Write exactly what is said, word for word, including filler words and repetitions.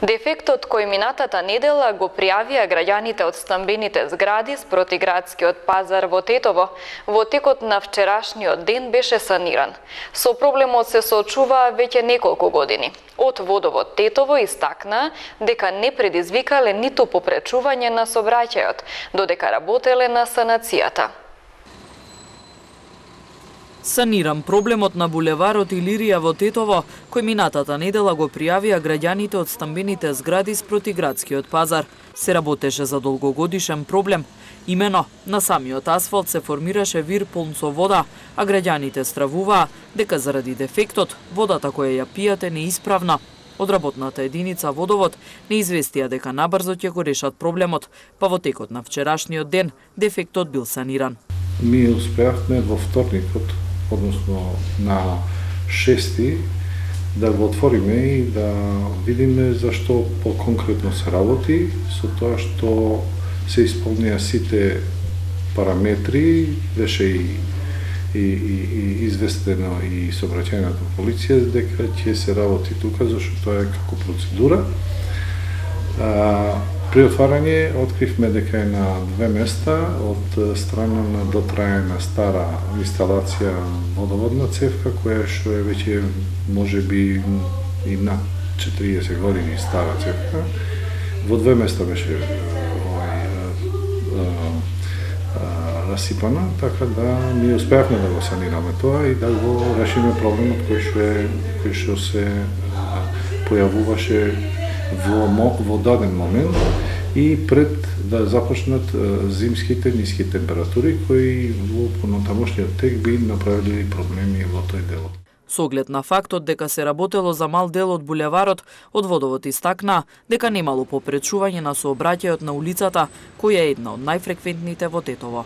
Дефектот кој минатата недела го пријавија граѓаните од стамбените згради спроти градскиот пазар во Тетово, во текот на вчерашниот ден беше саниран. Со проблемот се соочуваа веќе неколку години. Од Водовод Тетово истакна дека не предизвикале ниту попречување на сообраќајот, додека работеле на санацијата. Саниран проблемот на булеварот Илирија во Тетово, кој минатата недела го пријавија граѓаните од стамбените згради спроти градскиот пазар. Се работеше за долгогодишен проблем. Имено, на самиот асфалт се формираше вир полн со вода, а граѓаните стравуваа дека заради дефектот водата која ја пијате не исправна. Од работната единица Водовод не известија дека набрзо ќе го решат проблемот, па во текот на вчерашниот ден дефектот бил саниран. Ми успеавме во вторникот, односно на шести, да го отвориме и да видиме зашто по-конкретно се работи, со тоа што се исполнија сите параметри, беше и, и, и, и известено и сообраќајната полиција дека ќе се работи тука, зашто тоа е како процедура. А, При отварање откривме дека е на две места од страна на дотраена стара инсталација водоводна цевка, која што е веќе можеби и над четириесет години стара цевка. Во две места беше овај расипана, така да ние успеавме да го санираме тоа и да го решиме проблемот кој што е кој што се појавуваше во, во даден момент и пред да започнат зимските ниски температури кои во понатамошниот тек би направили проблеми во тој дел. Со оглед на фактот дека се работело за мал дел од булеварот, од Водовод истакна дека немало попречување на сообраќајот на улицата, која е една од најфреквентните во Тетово.